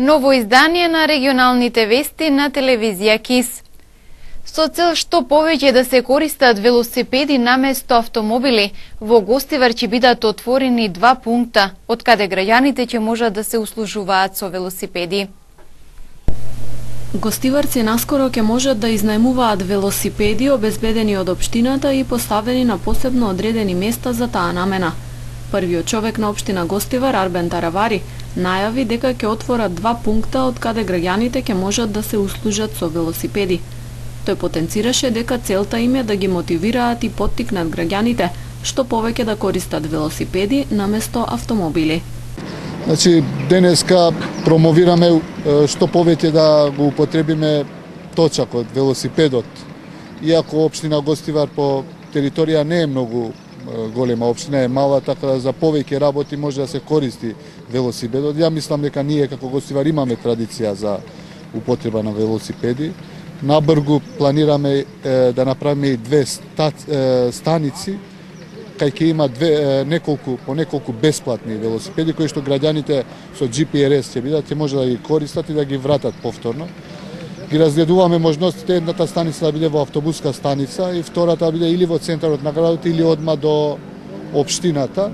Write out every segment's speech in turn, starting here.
Ново издание на регионалните вести на телевизија КИС. Со цел што повеќе да се користат велосипеди наместо автомобили, во Гостивар ќе бидат отворени 2 пункта, од каде граѓаните ќе можат да се услужуваат со велосипеди. Гостиварци наскоро ќе можат да изнајмуваат велосипеди обезбедени од општината и поставени на посебно одредени места за таа намена. Првиот човек на општина Гостивар, Арбен Таравари, најави дека ќе отворат 2 пункта од каде граѓаните ќе можат да се услужат со велосипеди. Тој потенцираше дека целта им е да ги мотивираат и поттикнат граѓаните што повеќе да користат велосипеди наместо автомобили. Значи, денеска промовираме што повеќе да го употребиме точакот, велосипедот. Иако општина Гостивар по територија не е многу голема, општина е мала, така да за повеќе работи може да се користи велосипедот. Ја мислам дека ние како Гостивар имаме традиција за употреба на велосипеди. Набргу планираме да направиме и 2 станици, кај ќе има по неколку бесплатни велосипеди кои што граѓаните со GPRS ќе бидат, ќе може да ги користат и да ги вратат повторно. Ги разгледуваме можностите едната станица да биде во автобуска станица и втората да биде или во центарот на градот или одма до општината.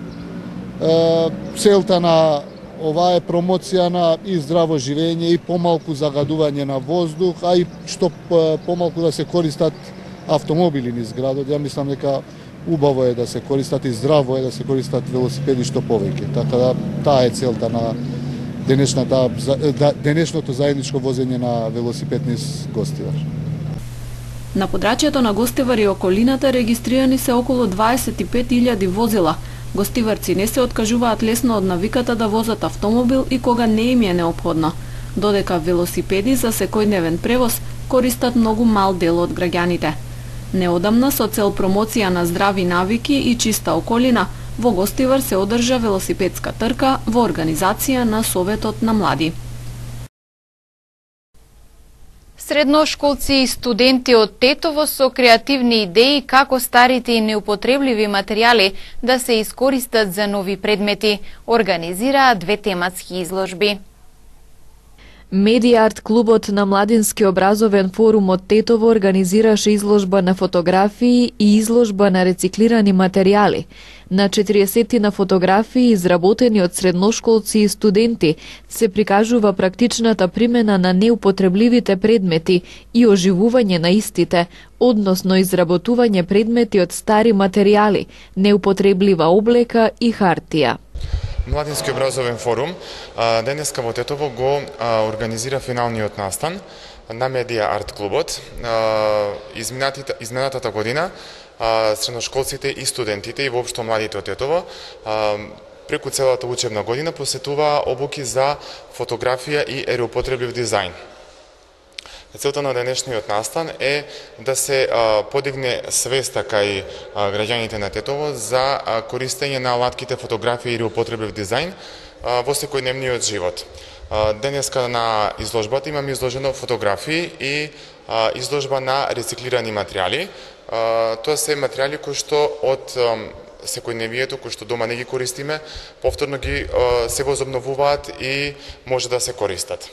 Целта на ова е промоција на и здраво живење и помалку загадување на воздух, а и што помалку да се користат автомобили низ градот. Ја мислам дека убаво е да се користат и здраво е да се користат велосипеди што повеќе. Така да таа е целта на денешното заедничко возење на велосипед низ Гостивар. На подрачјето на Гостивар и околината регистрирани се околу 25.000 возила. Гостиварци не се откажуваат лесно од навиката да возат автомобил и кога не им е неопходно, додека велосипеди за секојдневен превоз користат многу мал дел од граѓаните. Неодамна, со цел промоција на здрави навики и чиста околина, во Гостивар се одржа велосипедска трка во организација на Советот на млади. Средношколци и студенти од Тетово со креативни идеи како старите и неупотребливи материјали да се искористат за нови предмети, организираа 2 тематски изложби. Медија арт клубот на Младински образовен форум од Тетово организираше изложба на фотографии и изложба на рециклирани материјали. На 40 на фотографии изработени од средношколци и студенти се прикажува практичната примена на неупотребливите предмети и оживување на истите, односно изработување предмети од стари материјали, неупотреблива облека и хартија. Младински образовен форум денеска во Тетово го организира финалниот настан на Медија арт клубот. Изминатата година средношколците и студентите и воопшто младите од Тетово преку целата учебна година посетуваа обуки за фотографија и ереупотреблив дизајн. Целта на денешниот настан е да се подигне свеста кај граѓаните на Тетово за користење на алатките фотографија и ереупотреблив дизајн во секојдневниот живот. Денеска на изложбата имаме изложено фотографии и изложба на рециклирани материјали. Тоа се материјали кои што од секојдневието, кои што дома не ги користиме, повторно ги се возобновуваат и може да се користат.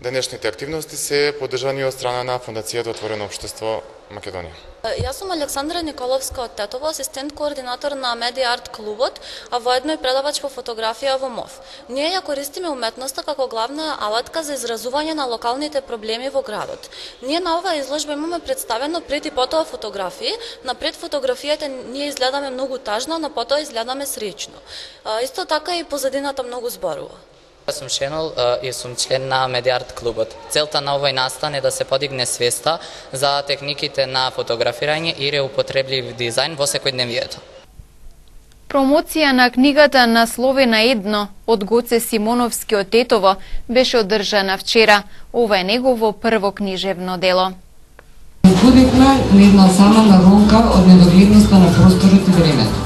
Денешните активности се поддржани од страна на Фондацијата Отворено општество Македонија. Јас сум Александра Николовска од Тетово, асистент координатор на Медија арт клубот, а воедно и предавач по фотографија во МОВ. Ние ја користиме уметноста како главна алатка за изразување на локалните проблеми во градот. Ние на оваа изложба имаме представено пред и потоа фотографии. Напред фотографијата ние изгледаме многу тажно, на потоа изгледаме среќно. Исто така и позадината многу зборува. Јас сум Шенол и сум член на Медија арт клубот. Целта на овој настан е да се подигне свеста за техниките на фотографирање и реупотреблив дизајн во секојдневието. Промоција на книгата Насловена едно од Гоце Симоновски од Тетово беше одржана вчера. Ова е негово прво книжевно дело. Збудивме на една самана ронка од недогледноста на просторот и времето.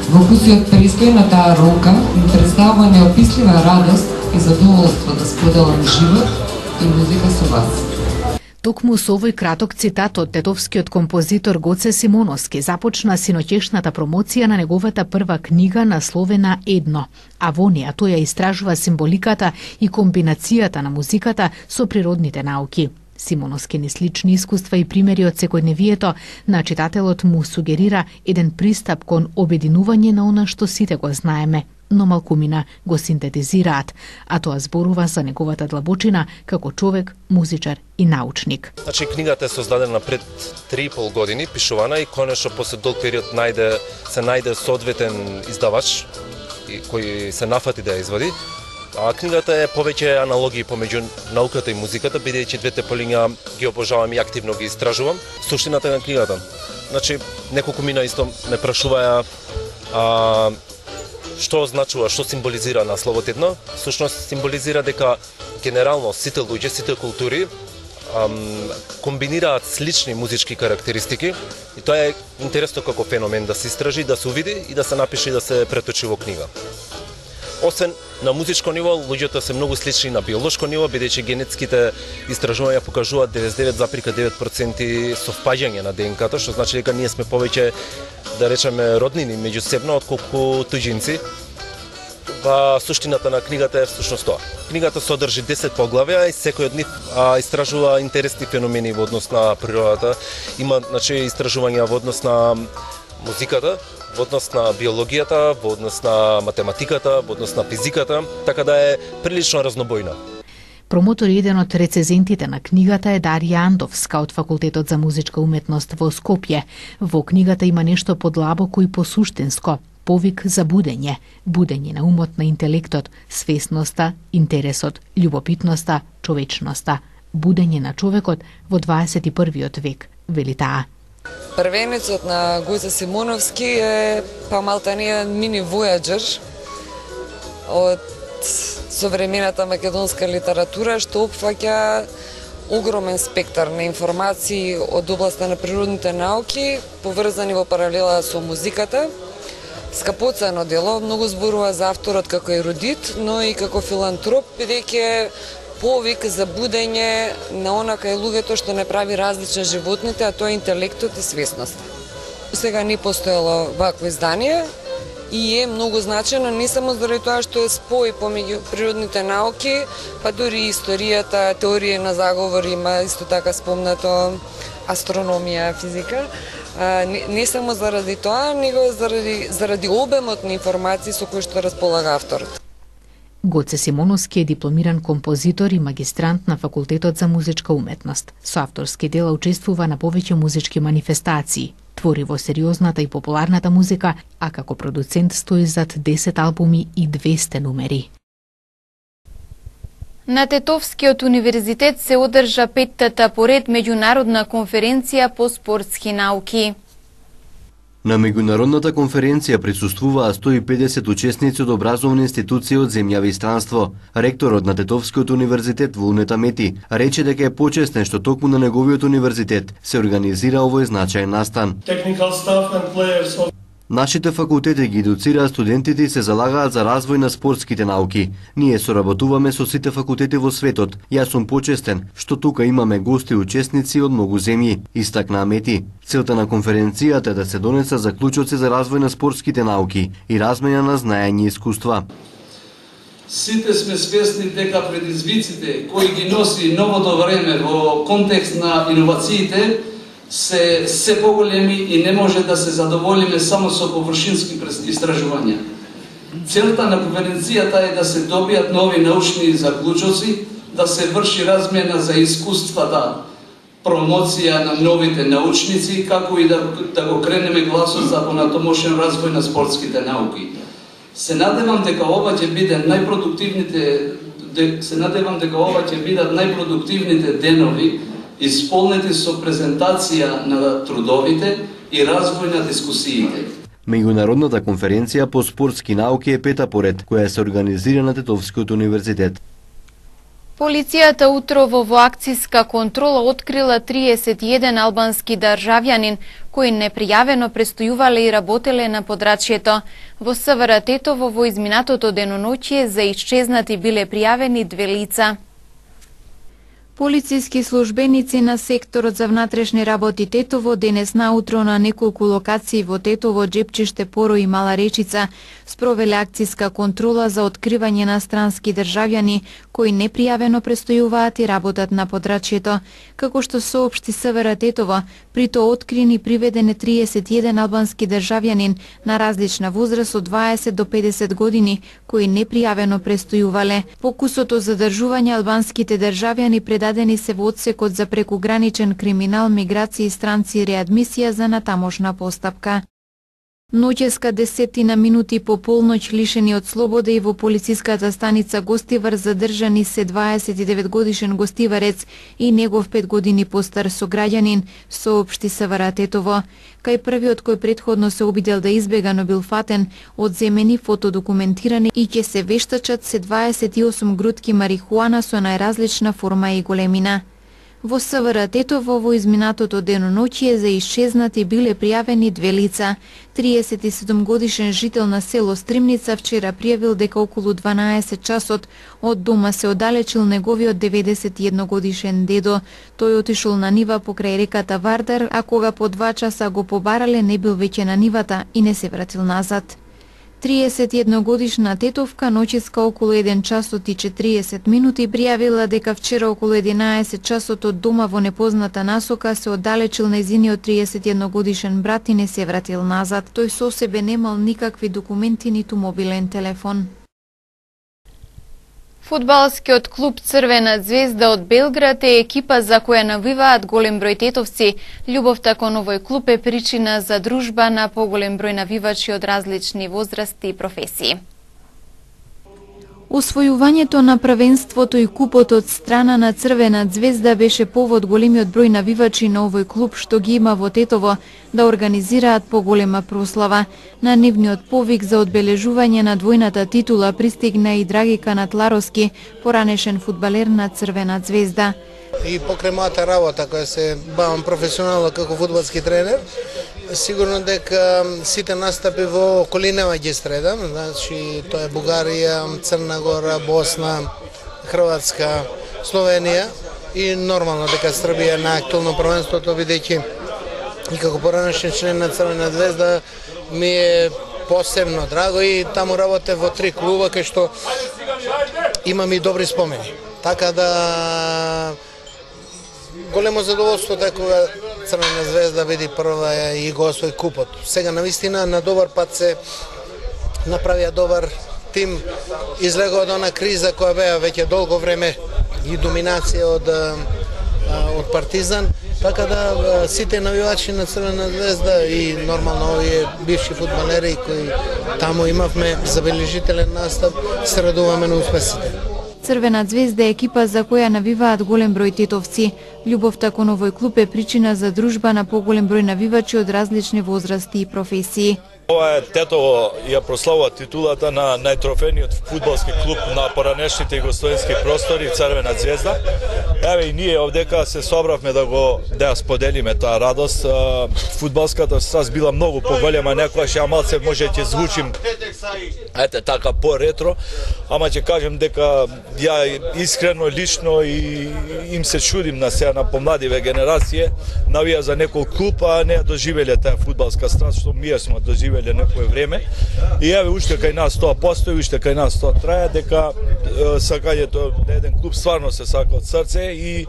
Во вкусиот престој на таа ронка ми представува неопислива радост и задоволство да споделам живот и музика со вас. Токму со овој краток цитат од тетовскиот композитор Гоце Симоновски започна синоќешната промоција на неговата прва книга насловена Едно, а во неа тој ја истражува символиката и комбинацијата на музиката со природните науки. Симоновски ни слични искуства и примери од секојдневието на читателот му сугерира еден пристап кон обединување на она што сите го знаеме, но малкумина го синтетизираат, а тоа зборува за неговата длабочина како човек, музичар и научник. Значи, книгата е создадена пред 3,5 години, пишувана и конечно после долг период се најде соодветен издавач кој се нафати да ја извади. А книгата е повеќе аналогии помеѓу науката и музиката, бидејќи двете полиња ги обожавам и активно ги истражувам. Суштината на книгата. Значи, неколку мина исто ме прашуваја што означува, што символизира насловот Едно. Всушност символизира дека генерално сите луѓе, сите култури комбинираат слични музички карактеристики и тоа е интересно како феномен да се истражи, да се увиди и да се напише и да се преточи во книга. Освен на музичко ниво, луѓето се многу слични на биолошко ниво, бидејќи генетските истражувања покажуваат 99,9% совпаѓање на ДНК-то, што значи дека ние сме повеќе, да речеме, роднини меѓусебно отколку туѓинци. Суштината на книгата е всушност тоа. Книгата содржи 10 поглавја и секој од нив истражува интересни феномени во однос на природата. Има, значи, истражувања во однос на музиката, во однос на биологијата, во однос на математиката, во однос на физиката, така да е прилично разнобојна. Промотор и еден од рецензентите на книгата е Дарија Андовска од Факултетот за музичка уметност во Скопје. Во книгата има нешто подлабоко и посуштинско, повик за будење, будење на умот, на интелектот, свесноста, интересот, љубопитноста, човечноста, будење на човекот во 21. век, вели таа. Првенецот на Гоце Симоновски е малтане мини војаџер од современата македонска литература, што опфаќа огромен спектар на информации од областа на природните науки, поврзани во паралела со музиката. Скапоцено дело, многу зборува за авторот како ерудит, но и како филантроп, бидејќи повик за будење на она кај луѓето што не прави различни животните, а тоа е интелектот и свесноста. Сега не постоело вакво издание и е многу значено не само заради тоа што е спој помеѓу природните науки, па дури историјата, теорија на заговор, има исто така спомнато астрономија, физика. Не само заради тоа, него заради обемот на информации со кои што располага авторот. Гоце Симоновски е дипломиран композитор и магистрант на Факултетот за музичка уметност. Со авторски дела учествува на повеќе музички манифестации. Твори во сериозната и популарната музика, а како продуцент стои зад 10 албуми и 200 numeri. На Тетовскиот универзитет се одржа 5-та поред меѓународна конференција по спортски науки. На меѓународната конференција присуствуваа 150 учесници од образовни институции од земјави и странство. Ректорот на Тетовскиот универзитет Вулнета Мети рече дека е почестен што токму на неговиот универзитет се организира овој значаен настан. Нашите факултети ги едуцираат студентите и се залагаат за развој на спортските науки. Ние соработуваме со сите факултети во светот. Јас сум почестен што тука имаме гости и учесници од многу земји, истакна Мети. Целта на конференцијата е да се донесат заклучоци за развој на спортските науки и размена на знаење и искуства. Сите сме свесни дека предизвиците кои ги носи новото време во контекст на иновациите се поголеми и не може да се задоволиме само со површински истражувања. Целта на конференцијата е да се добијат нови научни заклучоци, да се врши размена за искуствата, промоција на новите научници, како и да го кренеме гласот за понатомошен развој на спортските науки. Се надевам дека ова ќе бидат најпродуктивните денови, исполнети со презентација на трудовите и развој на дискусиите. Меѓународната конференција по спортски науки е 5-та поред, која се организира на Тетовскиот универзитет. Полицијата утрово во акцијска контрола открила 31 албански државјанин кои непријавено престојувале и работеле на подрачјето. Во СВР Тетово во изминатото деноноќие за исчезнати биле пријавени 2 лица. Полициски службеници на секторот за внатрешни работи Тетово денес наутро на неколку локации во Тетово, Джепчиште, Поро и Мала Речица спровеле акцијска контрола за откривање на странски државјани кои непријавено престојуваат и работат на подрачјето. Како што соопшти СВР Тетово, при тоа открин и приведен 31 албански државјанин на различна возраст од 20 до 50 години кои непријавено престојувале. Покусото за задржување албанските државјани предадени се во одсекот за прекуграничен криминал, миграција и странци и реадмисија за натамошна постапка. Ноќеска 10 минути по полноќ лишени од слобода и во полициската станица Гостивар задржани се 29 годишен гостиварец и негов 5 години постар сограѓанин, соопшти СВР Тетово. Кај првиот кој претходно се обидел да избега, но бил фатен, одземени, фотодокументирани и ќе се вештачат се 28 грудки марихуана со најразлична форма и големина. Во СВР Тетово во изминатото деноноќие за исчезнати биле пријавени две лица. 37 годишен жител на село Стримница вчера пријавил дека околу 12 часот од дома се оддалечил неговиот 91 годишен дедо. Тој отишол на нива покрај реката Вардар, а кога по 2 часа го побарале не бил веќе на нивата и не се вратил назад. 31 годишна тетовка ноќеска околу 1 часот и 40 минути пријавила дека вчера околу 11 часот од дома во непозната насока се оддалечил нејзиниот 31 годишен брат и не се вратил назад. Тој со себе немал никакви документи ниту мобилен телефон. Фудбалскиот клуб Црвена звезда од Белград е екипа за која навиваат голем број тетовци. Љубовта кон овој клуб е причина за дружба на поголем број навивачи од различни возрасти и професии. Освојувањето на првенството и купот од страна на Црвена звезда беше повод големиот број навивачи на овој клуб што ги има во Тетово да организираат поголема прослава. На нивниот повик за одбележување на двојната титула пристигна и Драги Канатларовски, поранешен фудбалер на Црвена звезда. И покрај мојата работа која се бавам професионално како фудбалски тренер, сигурно дека сите настапи во околинава ги средам, значи тоа е Бугарија, Црна Гора, Босна, Хрватска, Словенија и нормално дека Србија на актуелно првенството, бидејќи и како поранешен член на Црвена звезда ми е посебно драго и таму работев во 3 клуба кај што имам и добри спомени. Така да големо задоволство дека кога Црвена звезда биде прва и го освои купот. Сега навистина на добар пат се направија добар тим, излега од она криза која беа веќе долго време и доминација од Партизан, така да сите навивачи на Црвена звезда и нормално овие бивши фудбалери кои таму имавме забележителен настап, се радуваме на успесите. Црвена звезда е екипа за која навиваат голем број тетовци. Љубовта кон овој клуб е причина за дружба на поголем број навивачи од различни возрасти и професии. Ова е Тетово ја прославува титулата на најтрофениот фудбалски клуб на поранешните југословенски простори Црвена звезда. Еве и ние овдека се собравме да ја споделиме таа радост. Фудбалската страст била многу поголема, некогаш ја малце може ќе звучим така по-ретро, ама ќе кажем дека ја искрено, лично и им се чудим на сега на помладиве генерација, навија за некој клуб, а не доживеле таа фудбалска страст што ние сме доживеле некое време. И еве уште кај нас тоа постои, уште кај нас тоа трае, дека сакањето на еден клуб стварно се сака од срце и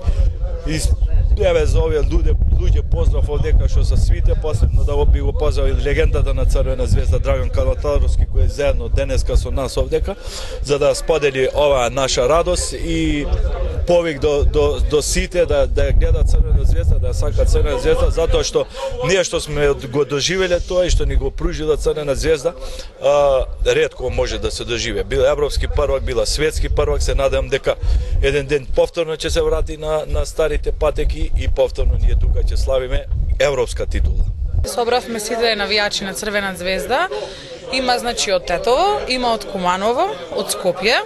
еве за овие луѓе поздрав овдека што се свите, посебно да би го поздравил легендата на Црвена звезда Драган Канатларовски кој е заедно денеска со нас овдека за да сподели оваа наша радост и повик до сите да гледат Црвена звезда, да сакат Црвена звезда, затоа што ние што сме го доживеле тоа и што ни го пружила Црвена звезда, ретко може да се доживе. Бил европски првак, била светски првак, се надевам дека еден ден повторно ќе се врати на старите патеки и повторно ние тука ќе славиме европска титула. Собравме сите навијачи на Црвена звезда. Има значи од Тетово, има од Куманово, од Скопје.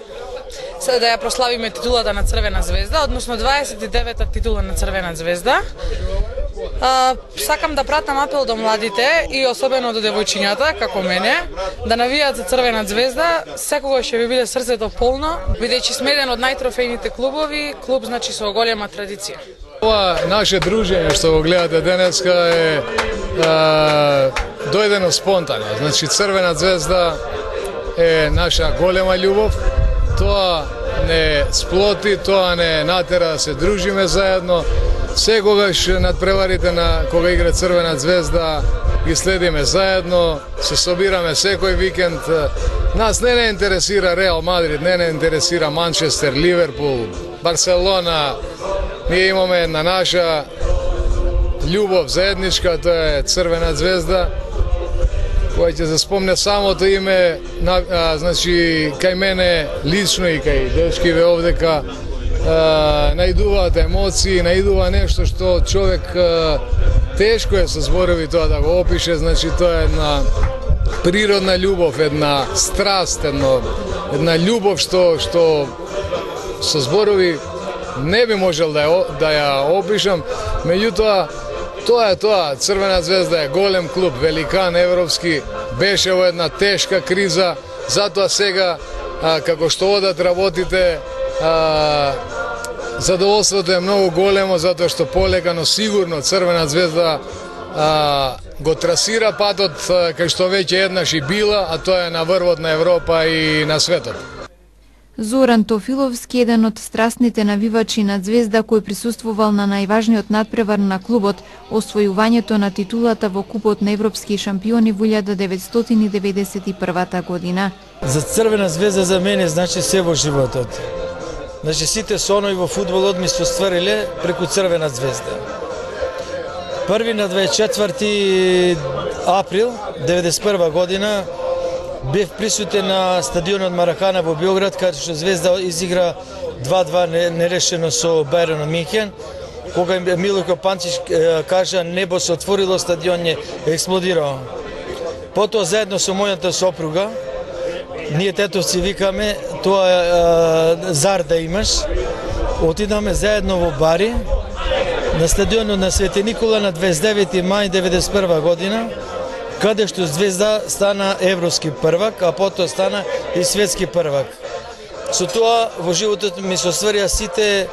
Сега да ја прославиме титулата на Црвена звезда, односно 29-та титула на Црвена звезда. Сакам да пратам апел до младите и особено до девојчињата, како мене, да навијат за Црвена звезда, секогаш ќе ви биде срцето полно, бидејќи сме еден од најтрофејните клубови, клуб значи со голема традиција. Ова наше дружење што го гледате денеска е дојдено спонтано. Значи Црвена звезда е наша голема љубов. Тоа не сплоти, тоа не натера да се дружиме заедно. Секогаш надпреварите на кога игра Црвена звезда ги следиме заедно, се собираме секој викенд. Нас не интересира Реал Мадрид, не интересира Манчестер, Ливерпул, Барселона. Ние имаме една наша љубов заедничка, тоа е Црвена звезда, која ќе се спомне самото име, значи кај мене лично и кај дечкиве овдека, најдуваат емоции, најдува нешто што човек тешко е со зборови тоа да го опише, значи тоа е една природна љубов, една страст, една љубов што со зборови не би можел да ја опишам, меѓутоа тоа е тоа. Црвена звезда е голем клуб, великан европски, беше во една тешка криза, затоа сега како што одат работите, задоволството е многу големо, затоа што полека, но сигурно Црвена звезда го трасира патот кај што веќе еднаш и била, а тоа е на врвот на Европа и на светот. Зоран Тофиловски, еден од страстните навивачи на Звезда кој присуствувал на најважниот надпревар на клубот, освојувањето на титулата во Купот на европски шампиони во 1991 година. За Црвена звезда за мене значи се во животот. Значи сите сонови во фудбалот ми се оствариле преку Црвена звезда. Први на 24 април 1991 година бев присутен на стадионот Маракана во Биоград, каде што Звезда изигра 2-2 нерешено со Бајерн Мюнхен, кога Милко Панчич кажа небо се отворило, стадион е експлодирao. Потоа заедно со мојата сопруга, ние тетовци викаме, тоа е зар да имаш, отидаме заедно во Бари, на стадионот на Свети Никола на 29 мај 1991 година, каде што Звезда стана европски првак, а потоа стана и светски првак. Со тоа во животот ми се остварија сите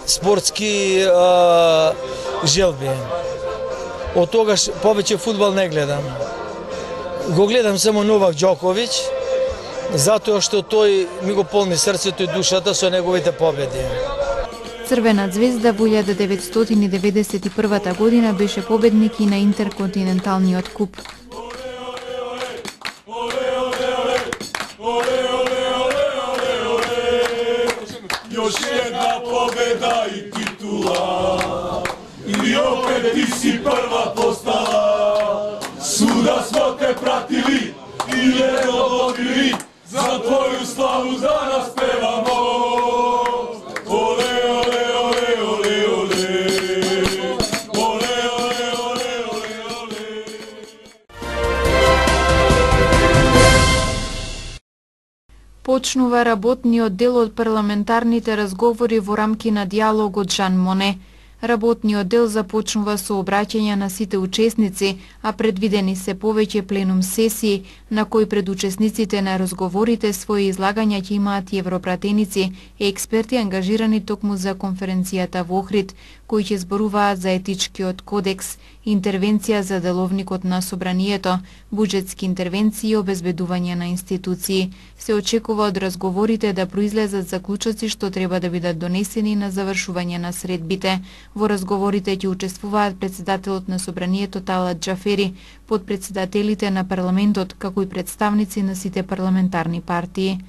спортски желби. Од тогаш повеќе фудбал не гледам. Го гледам само Новак Џоковиќ, затоа што тој ми го полни срцето и душата со неговите победи. Црвена звезда во 1991 година беше победник и на Интерконтиненталниот куп. Još jedna pobeda i titula I opet ti si prva postala Svuda smo te pratili I jedno dobili Za tvoju slavu danas pevamo Ole, ole, ole, ole, ole Ole, ole, ole, ole, ole Почнува работниот дел од парламентарните разговори во рамки на диалогот Жан Моне. Работниот дел започнува со обраќање на сите учесници, а предвидени се повеќе пленум сесии, на кои пред учесниците на разговорите своји излагања ќе имаат и европратеници и експерти ангажирани токму за конференцијата во Охрид, кои ќе зборуваат за етичкиот кодекс, интервенција за деловникот на собранието, буџетски интервенции и обезбедување на институции. Се очекува од разговорите да произлезат заклучоци што треба да бидат донесени на завршување на средбите. Во разговорите ќе учествуваат председателот на собранието Талат Џафери, подпредседателите на парламентот, како и представници на сите парламентарни партии.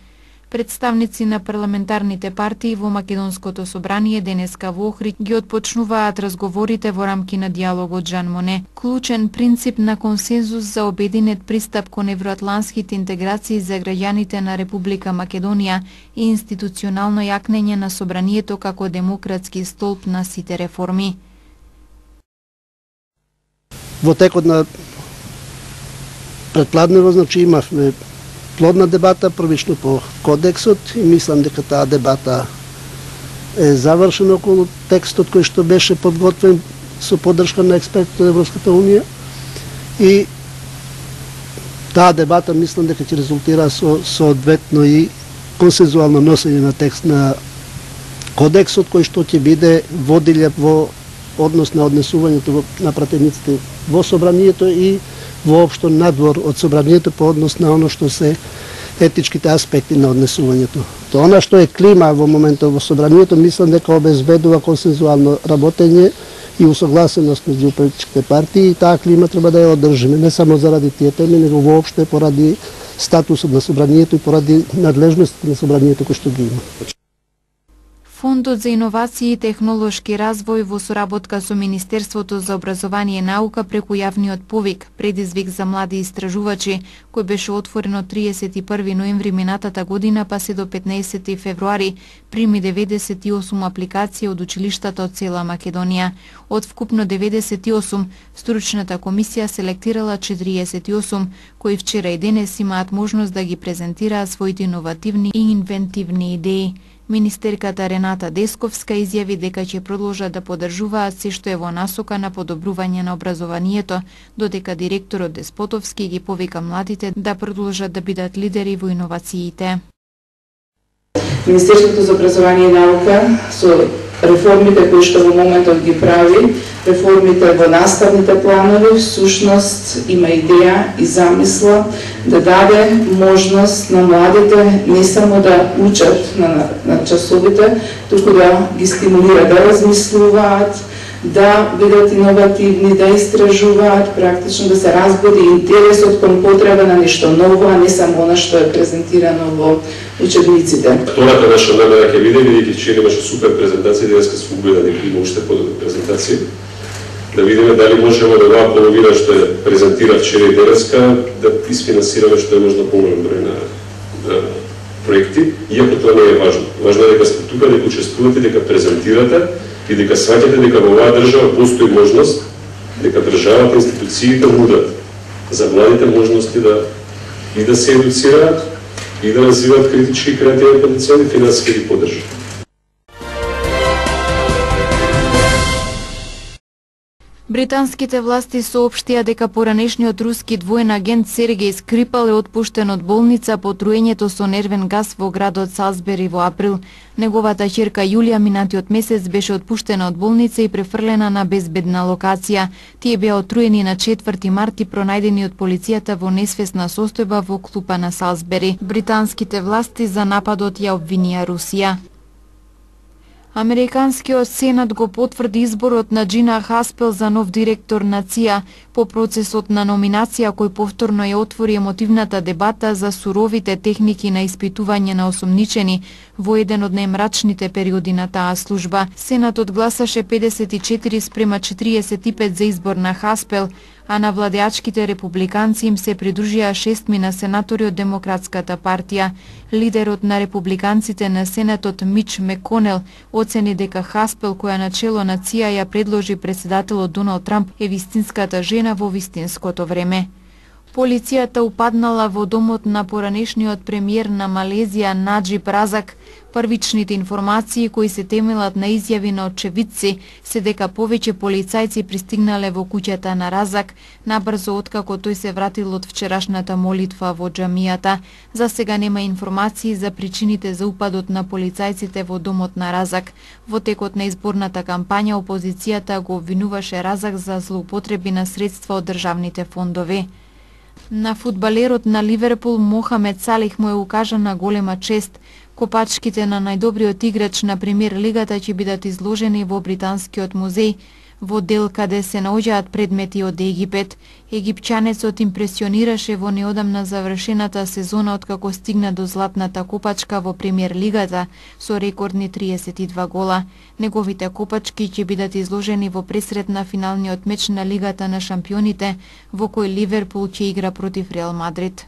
Представници на парламентарните партии во Македонското собрание денеска во Охрид ги отпочнуваат разговорите во рамки на диалогот Жан Моне. Клучен принцип на консензус за обединет пристап кон евроатлантските интеграции за граѓаните на Република Македонија и институционално јакнење на собранието како демократски столб на сите реформи. Во текот на предпладнево, значи имавме плодна дебата, првично по кодексот и мислам дека таа дебата е завршена околу текстот кој што беше подготвен со поддршка на експертите од Европската унија и таа дебата мислам дека ќе резултира со соодветно и консензуално носење на текст на кодексот кој што ќе биде водилја во однос на однесувањето на пратениците во собранието и воопшто надвор од собранието по однос на оно што се етичките аспекти на однесувањето. Тоа она што е клима во моментот во собранието мислам дека обезбедува консензуално работење и усогласеност меѓу политичките партии и таа клима треба да ја одржиме не само заради тие теми, него воопшто поради статусот на собранието и поради надлежностите на собранието кој што ги има. Фондот за иновации и технолошки развој во соработка со Министерството за образование и наука преку јавниот повик предизвик за млади истражувачи, кој беше отворен од 31 ноември минатата година па се до 15 февруари, прими 98 апликации од училиштата од цела Македонија. Од вкупно 98, стручната комисија селектирала 48, кои вчера и денес имаат можност да ги презентираат своите иновативни и инвентивни идеи. Министерката Рената Десковска изјави дека ќе продолжат да поддржуваат се што е во насока на подобрување на образованието, додека директорот Деспотовски ги повика младите да продолжат да бидат лидери во иновациите. Министерството за образование и наука со реформите кои што во моментот ги прави, реформите во наставните планови, всушност има идеја и замисла да даде можност на младите не само да учат на часовите, туку да ги стимулира да размислуваат, да бидат иновативни, да истражуваат, практично да се разбуди интересот кон потреба на нешто ново, а не само она што е презентирано во учебниците. Втората наша намера ќе биде, бидејќи вчера имаше супер презентација, денеска сме убедени дека има уште подобри презентации, да видиме дали можеме да оваа половина што ја презентира вчера и денеска да изфинансираме што е можно поголем број на проекти, иако тоа не е важно. Важно е дека сте тука, дека учествувате, дека презентирате и дека сваќате дека во оваа држава постои можност, дека државата, институциите нудат за младите можности да се едуцираат и да развиваат критички и креативен потенцијал и финансиски ги поддржат. Британските власти соопштија дека поранешниот руски двоен агент Сергеј Скрипал е отпуштен од болница по труењето со нервен газ во градот Салсбери во април. Неговата ќерка Јулија минатиот месец беше отпуштена од болница и префрлена на безбедна локација. Тие беа отруени на 4 март и пронајдени од полицијата во несвесна состојба во клупа на Салсбери. Британските власти за нападот ја обвинија Русија. Американскиот сенат го потврди изборот на Джина Хаспел за нов директор на ЦИА по процесот на номинација кој повторно ја отвори емотивната дебата за суровите техники на испитување на осомничени во еден од најмрачните периоди на таа служба. Сенатот гласаше 54 спрема 45 за избор на Хаспел, а на владеачките републиканци им се придружија 6 на сенатори од Демократската партија. Лидерот на републиканците на Сенатот Мич Меконел оцени дека Хаспел, која начело на ЦИА ја предложи председателот Доналд Трамп, е вистинската жена во вистинското време. Полицијата упаднала во домот на поранешниот премиер на Малезија Наџиб Разак. Првичните информации кои се темелат на изјави на очевидци се дека повеќе полицајци пристигнале во куќата на Разак набрзо откако тој се вратил од вчерашната молитва во џамијата. За сега нема информации за причините за упадот на полицајците во домот на Разак. Во текот на изборната кампања опозицијата го обвинуваше Разак за злоупотреби на средства од државните фондови. На фудбалерот на Ливерпул Мохамед Салих му е укажана голема чест. Копачките на најдобриот играч на премиер лигата ќе бидат изложени во Британскиот музеј, во дел каде се наоѓаат предмети од Египет. Египчанецот импресионираше во неодамна завршената сезона откако стигна до златната копачка во премиер лигата со рекордни 32 гола. Неговите копачки ќе бидат изложени во пресрет на финалниот меч на Лигата на шампионите, во кој Ливерпул ќе игра против Реал Мадрид.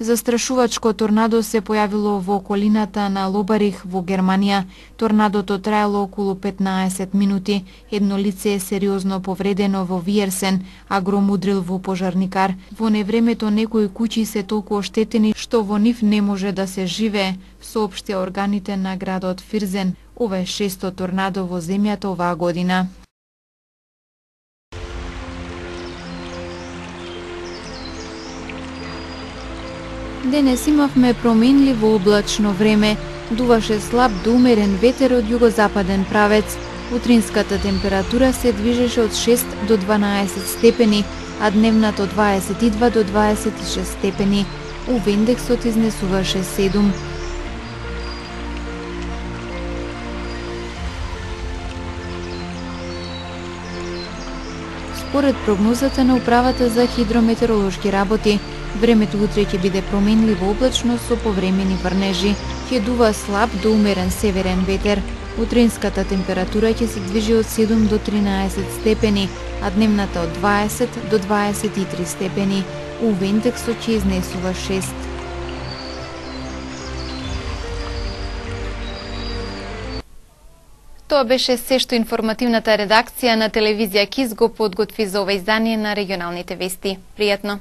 Застрашувачко торнадо се појавило во околината на Лобарих во Германија. Торнадото траело околу 15 минути. Едно лице е сериозно повредено во Виерсен, а гром удрил во пожарникар. Во невремето некои куќи се толку оштетени што во нив не може да се живее, соопштија органите на градот Фирзен. Ова е 6-то торнадо во земјата оваа година. Денес имавме променливо облачно време, дуваше слаб до умерен ветер од југозападен правец. Утринската температура се движеше од 6 до 12 степени, а дневната од 22 до 26 степени. УВ индексот изнесуваше 7. Според прогнозата на Управата за хидрометеоролошки работи, времето утре ќе биде променливо облачно со повремени врнежи, ќе дува слаб до умерен северен ветер. Утринската температура ќе се движи од 7 до 13 степени, а дневната од 20 до 23 степени. УВ индексот ќе изнесува 6. Тоа беше се што информативната редакција на телевизија КИС го подготви за ова издание на регионалните вести. Пријатно!